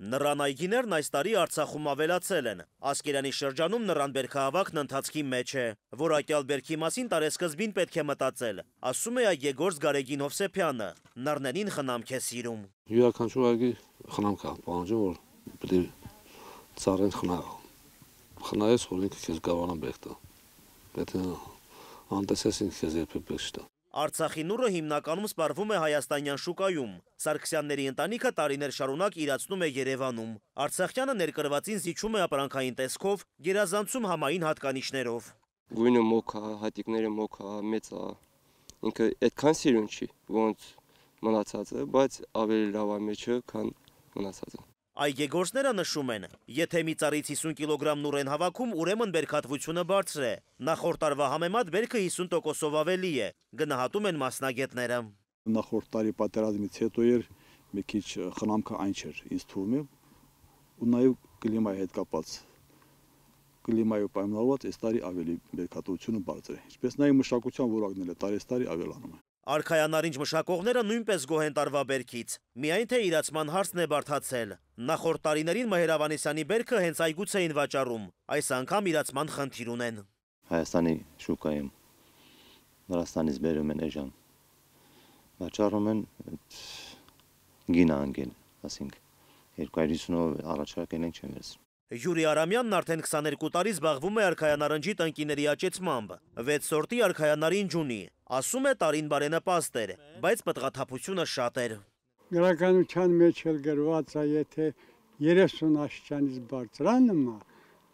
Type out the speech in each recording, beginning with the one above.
Նռան այգիներն այս տարի Արցախում ավելացել են։ Ասկերանի շրջանում նռան բերքահավաքն ընթացքի մեջ է։ Որակյալ բերքի մասին տարեսկզբին պետք է մտածել, ասում է այգեգործ Գարեգին Հովսեփյանը։ Նռներին խնամք է սիրում։ Յուրաքանչյուր այգի խնամք է պահանջում, որ պետք է ծառեն խնայես, որ ինքը քեզ կարողանա բերք տա։ Պետք է անտեսես ինքը քեզ երբեք բերք չտա։ Արցախի նուռը հիմնականում սպառվում է հայաստանյան շուկայում։ Սարգսյանների ընտանիքը տարիներ շարունակ իրացնում է Երևանում։ Արցախյանը ներկրվածին զիջում է ապրանքային տեսքով, գերազանցում համային հատկանիշներով։ Գույնը մոք է, հատիկները մոք է, մեծ է։ Ինքը այդքան սիրուն չի, ոնց մնացածը, բայց ավելի լավ է մեջը, քան մնացածը։ Այգեգործները նշում են, եթե մի ծառից 50 կիլոգրամ նուռ են հավաքում, ուրեմն բերքատվությունը բարձր է։ Նախորդ տարվա համեմատ բերքը 50%-ով ավելի է, գնահատում են մասնագետները։ Նախորդ տարի պատերազմից հետո էր մի քիչ խնամքը այն չէր, ինձ թվում է, ու նաև կլիմայի հետ կապված։ Կլիմայով պայմանավորված այս տարի ավելի բերքատվությունը բարձր է։ Ինչպես նաև մշակության որակն էլ տարեստարի ավելանում է։ Արքայանարինջ մշակողները նույնպես գոհ են տարվա բերքից, միայն թե իրացման հարցն է բարդացել։ Նախորդ տարիներին Մհեր Ավանեսյանի բերքը հենց այգուց էին վաճառում, այս անգամ իրացման խնդիր ունեն։ Հայաստանի շուկայում Վրաստանից բերում են էժան, վաճառում են գինը անգել, ասենք 250-ով առաջարկել են չեն վերցնում։ Յուրի Արամյանն արդեն 22 տարի զբաղվում է արքայանարնջի տնկիների աճեցմամբ, 6 սորտի արքայանարինջ ունի, ասում է տարին բարենպաստ էր, բայց պտղաթափությունը շատ էր։ Գրականության մեջ էլ գրված է, եթե 30 աշճանից բարձրանում է,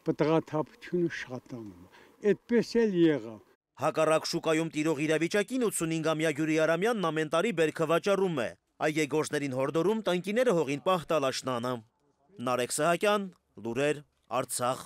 պտղաթափությունը շատանում է, այդպես էլ եղավ։ Հակառակ շուկայում տիրող իրավիճակին 85-ամյա Յուրի Արամյանն ամեն տարի բերքը վաճառում է, այգեգործներին հորդորում տնկիները հողին պահ տալ աշնանը։ Նարեկ Սահակյան, Լուրեր, Արցախ։